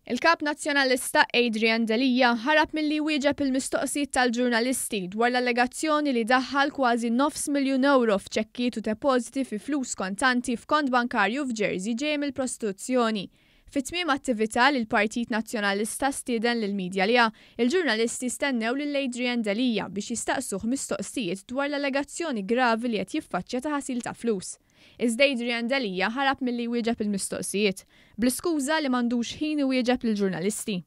Il-Kap Nazzjonalista Adrian Delia ħarab milli jwieġeb il-mistoqsijiet tal-ġurnalisti dwar l-allegazzjoni li daħħal kważi nofs miljun ewro f'ċekkijiet u depożiti fi flus kontanti f'kont bankarju f'Jersey ġej mill-prostituzzjoni. Fi tmiem attività li l-Partit Nazzjonalista stieden lill-media għaliha, il-ġurnalisti stennew lil Adrian Delia biex jistaqsuh mistoqsijiet dwar l-allegazzjoni gravi li qed jiffaċċja ta' ħasil ta' flus. Iżda Adrian Delia ħarab milli jwieġeb il-mistoqsijiet, bl-iskuża li m'għandux ħin iwieġeb lill-ġurnalisti.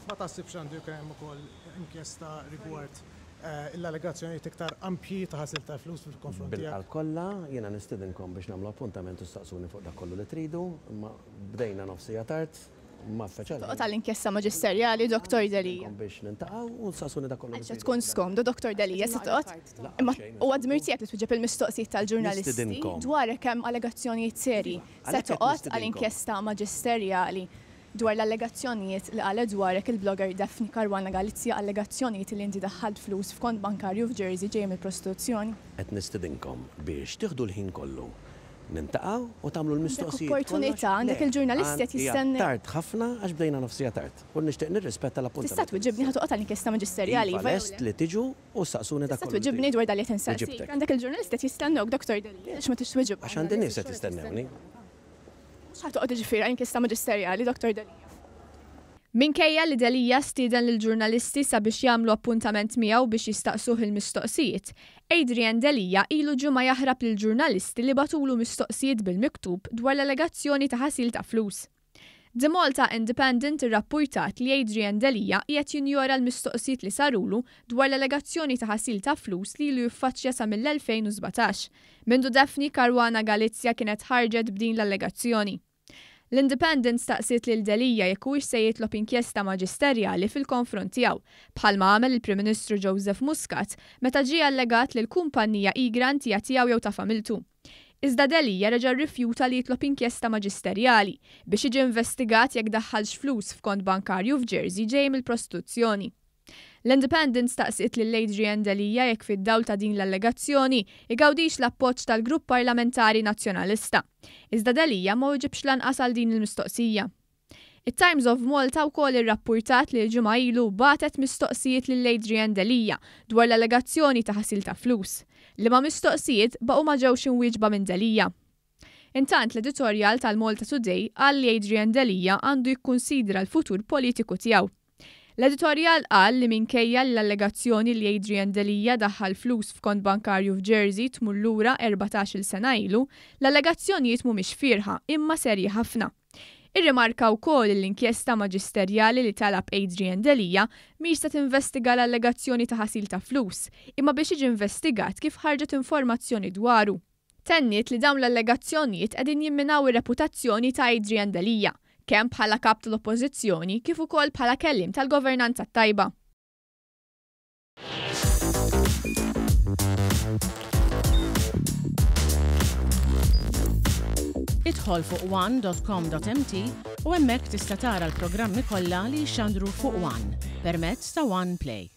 Ma taħsibx li għandu jkun hemm ukoll inkjesta rigward l-allegazzjonijiet iktar ampji ta' ħasil ta' flus fil-konfront tiegħek? Bil-qalb kollha, jiena nistidinkom biex nagħmlu appuntament u staqsuni fuq dak kollu li tridu, imma bdejna nofs siegħa tard. Toqgħod għall-inkjesta maġisterjali, Dottor Delia. Biex niltaqgħu u nsaqsuni dak kollu. Għaliex qed tkun skomdu, Dottor Delia, se toqgħod? Imma huwa dmir tiegħek li twieġeb il-mistoqsijiet tal-ġurnalisti dwarek hemm allegazzjonijiet serji. Se toqgħod għal inkjesta maġisterjali dwar l-allegazzjonijiet li qalet dwarek il-blogger Daphne Caruana Galizia, allegazzjonijiet li inti daħħalt flus f'kont bankarju f'Jersey ġej mill-prostituzzjoni? Qed nistidinkom biex tieħdu l-ħin kollu Niltaqgħu u tagħmlu l-mistoqsijiet. Għandek opportunità, għandek il-ġurnalisti qed jistennew. Hija tard ħafna għax bdejna nofs siegħa tard u nixtieq nirrispetta l-appuntament. Tista' twiġibni ħa toqgħod għall-inkjesta maġisterjali, iva jew le? Iva lest li tiġu u ssaqsuni dak kollu. Tista' twiġibni dwar dan li qed insaqsik? Għandek il-ġurnalisti qed jistennewk, Dottor Delia, għaliex ma tridx twiġibhom? Għax għandi nies qed jistennewni. Mhux ħa toqgħod jiġifieri għall-inkjesta maġisterjali, Dottor Delia? Minkejja li Delia stieden lill-ġurnalisti sabiex jagħmlu appuntament miegħu biex jistaqsuh il-mistoqsijiet, Adrian Delia ilu ġimgħa jaħrab lill-ġurnalisti li bagħtulu mistoqsijiet bil-miktub dwar l-allegazzjoni ta' ħasil ta' flus. The Malta Independent irrappurtat li Adrian Delia qiegħed jinjora l-mistoqsijiet li sarulu dwar l-allegazzjoni ta' ħasil ta' flus li ilu jiffaċċja sa mill-2017, mindu Daphne Caruana Galizia kienet ħarġet b'din l-allegazzjoni. L-Independent staqsiet lil Delia jekk huwiex se jitlob inkjesta maġisterjali fil-konfront tiegħu, bħalma għamel il-Prim Ministru Joseph Muscat meta ġie allegat li l-kumpanija Egrant hija tiegħu jew ta' familtu. Iżda Delia reġa' rrifjuta li jitlob inkjesta maġisterjali biex jiġi investigat jekk daħħalx flus f'kont bankarju f'Jersey ġej mill-prostituzzjoni. L-Independent staqsiet lil Adrian Delia jekk fid-dawl ta' din l-allegazzjoni igawdix l-appoġġ tal-Grupp Parlamentari Nazzjonalista. Iżda Delia ma wiġibx lanqas għal din il-mistoqsija. It-Times of Malta wkoll irrappurtat li ġimgħa ilu bagħtet mistoqsijiet lil Adrian Delia dwar l-allegazzjoni ta' ħasil ta' flus, liema mistoqsijiet baqgħu ma ġewx imwieġba minn Delia. Intant l-editorjal tal-Malta Today qal li Adrian Delia għandu jikkunsidra l-futur politiku tiegħu. L-editorjal qal li minkejja li l-allegazzjoni li Adrian Delia daħħal flus f'kont bankarju f'Jersey tmur lura 14-il sena ilu, l-allegazzjonijiet mhumiex fierħa imma serji ħafna. Irrimarka wkoll li l-inkjesta maġisterjali li talab Adrian Delia mhix se tinvestiga l-allegazzjoni ta' ħasil ta' flus, imma biex jiġi investigat kif ħarġet informazzjoni dwaru. Tenniet li dawn l-allegazzjonijiet qegħdin jimminaw ir-reputazzjoni ta' Adrian Delia, kemm bħala Kap tal-Oppożizzjoni kif ukoll bħala kelliem tal-governanza t-tajba. Idħol fuq one.com.mt u hemmhekk tista' tara l-programmi kollha li jixxandru fuq One permezz ta' One Play.